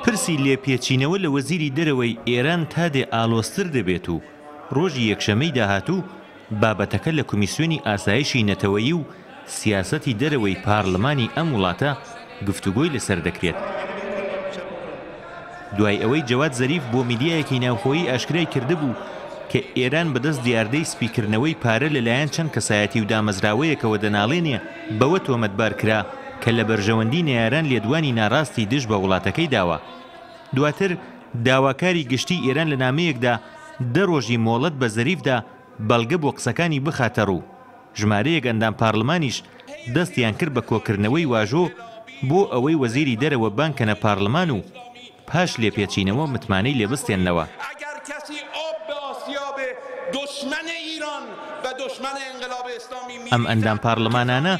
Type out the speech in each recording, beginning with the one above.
پرسی لێپێچینەوە لە وەزیری دەرەوەی ئێران تا دێ ئاڵۆزتر دەبێت و ڕۆژی یەکشەممەی داهاتوو بابەتەکە لە کمیسیۆنی ئاسایشی نەتەوەیی و سیاسەتی دەرەوەی پارلمانی ئەم وڵاتە گفتوگۆی لەسەر دەکرێت. دوای ئەوەی جەواد زەریف بۆ میدیایەکی ناوخۆیی ئاشکرای کردبوو کە ئێران بەدەست دیاردەی سپیکردنەوەی پارە لەلایەن چەند کەسایەتی و دامەزراوەیەکەوە دەناڵێنێ، بەوە تۆمەتبار کرا کە لە بەرژەوەندی نەیاران لێدوانی ناڕاستی دژ بە وڵاتەکەی داوە. دواتر داواکاری گشتیی ئێران لە نامەیەکدا دە ڕۆژی مۆڵەت بە زەریف دا بەڵگە بۆ قسەکانی بخاتەڕوو. ژمارەیەک ئەندام پارلمانیش دەستیان کرد بە کۆکردنەوەی واژۆ بۆ ئەوەی وەزیری دەرەوە بانگ کەنە پارلمان و پاش لێپێچینەوە متمانەی لێ بستێننەوە. ئەم ئەندام پارلمانانە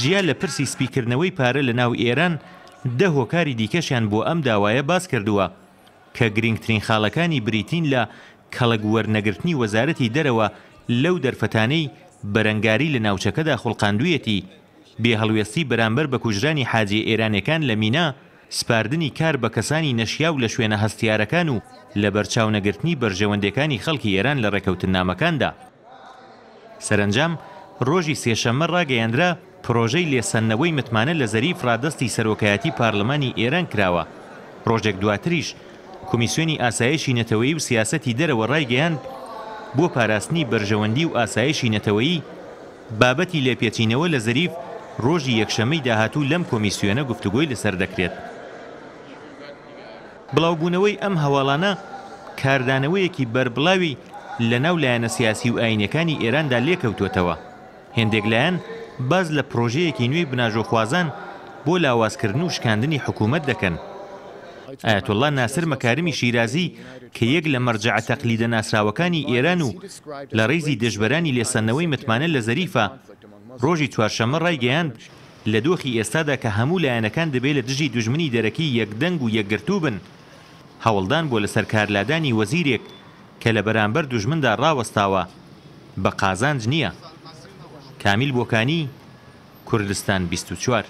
جیا لە پرسی سپیکردنەوەی پارە لە ناو ئێران، دە هۆکاری دیکەشیان بۆ ئەم داوایە باس کردووە کە گرینگترین خاڵەکانی بریتین لە کەڵک وەرنەگرتنی وەزارەتی دەرەوە لەو دەرفەتانەی بەرەنگاری لە ناوچەکەدا خوڵقاندوویەتی، بێ هەڵوێستی بەرامبەر بە کوژرانی حاجیە ئێرانێکان لە مینا، سپاردنی کار بە کەسانی نەشیاو لە شوێنە هەستیارەکان و لەبەرچاونەگرتنی بەرژەوەندێکانی خەڵکی ئێران لە ڕێکەوتننامەکاندا. سەرەنجام ڕۆژی سێشەممە ڕاگەیەنرا، پرۆژەی لێسەندنەوەی متمانە لە زەریف ڕادەستی سەرۆکایەتی پارلمانی ئێران کراوە. ڕۆژێک دواتریش کۆمیسیۆنی ئاسایشی نەتەوەیی و سیاسەتی دەرەوە ڕایگەیاند، بۆ پاراستنی بەرژەوەندی و ئاسایشی نەتەوەیی، بابەتی لێپێچینەوە لە زەریف ڕۆژی یەکشەممەی داهاتوو لەم کۆمیسیۆنە گفتوگۆی لەسەر دەکرێت. بڵاوبوونەوەی ئەم هەواڵانە کاردانەوەیەکی بەربڵاوی لە ناو لایەنە سیاسی و ئایینیەکانی ئێراندا لێکەوتووەتەوە. هێندێک لایەن باس لە پرۆژەیەکی نوێی بناژۆخوازان بۆ لاوازکردن و شکاندنی حکوومەت دەکەن. ئایەتوڵڵا ناسر مەکارمی شیرازی کە یەک لە مەرجەعە تەقلیدە ناسراوەکانی ئێران و لە ڕیزی دژبەرانی لێسەندنەوەی متمانە لە زەریفە، ڕۆژی چوارشەممە ڕایگەیاند، لە دۆخی ئێستادا کە هەموو لایەنەکان دەبێ لە دژی دوژمنی دەرەکی یەکدەنگ و یەکگرتوو بن، هەوڵدان بۆ لەسەر کارلادانی وەزیرێک کە لە بەرامبەر دوژمندا ڕاوەستاوە، بە قازانج نییە. کامیل بۆکانی، کوردستان 24.